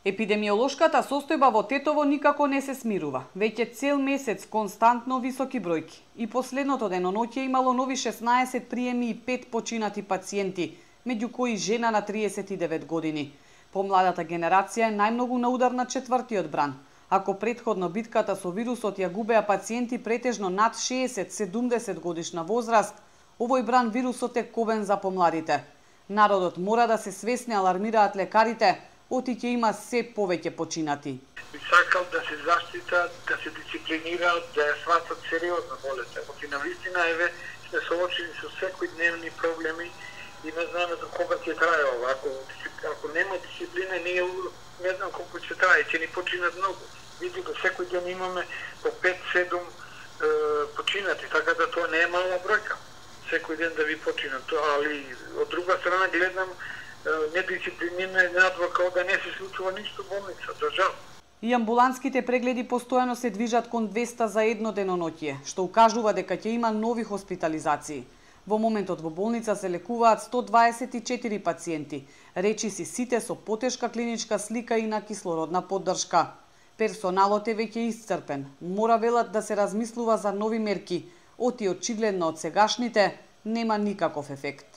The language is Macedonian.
Епидемиолошката состојба во Тетово никако не се смирува. Веќе цел месец константно високи бројки. И последното деноноќе имало нови 16 приеми и 5 починати пациенти, меѓу кои жена на 39 години. Помладата генерација е најмногу на удар на четвртиот бран. Ако претходно битката со вирусот ја губеа пациенти претежно над 60-70 годишна возраст, овој бран вирусот е кобен за помладите. Народот мора да се свесни, алармираат лекарите, оти ќе има се повеќе починати. Би сакал да се заштитат, да се дисциплинираат, да ја сватат сериозно болест. Оти навистина сме соочени со секојдневни проблеми и не знаеме до кога ќе трае ова. Ако нема дисциплина, не знам колку ќе трае, ќе ни починат многу. Видите, секој ден имаме по 5-7 починати, така да тоа не е мала бројка. Секој ден да ви починат, али од друга страна гледам недисциплинирана надвор као да не се случува ништо во болницата, жал. И амбуланските прегледи постојано се движат кон 200 за едно деноноќе, што укажува дека ќе има нови хоспитализации. Во моментот во болница се лекуваат 124 пациенти, речиси сите со потешка клиничка слика и на кислородна поддршка. Персоналот е веќе исцрпен, мора велат да се размислува за нови мерки, оти очигледно од сегашните нема никаков ефект.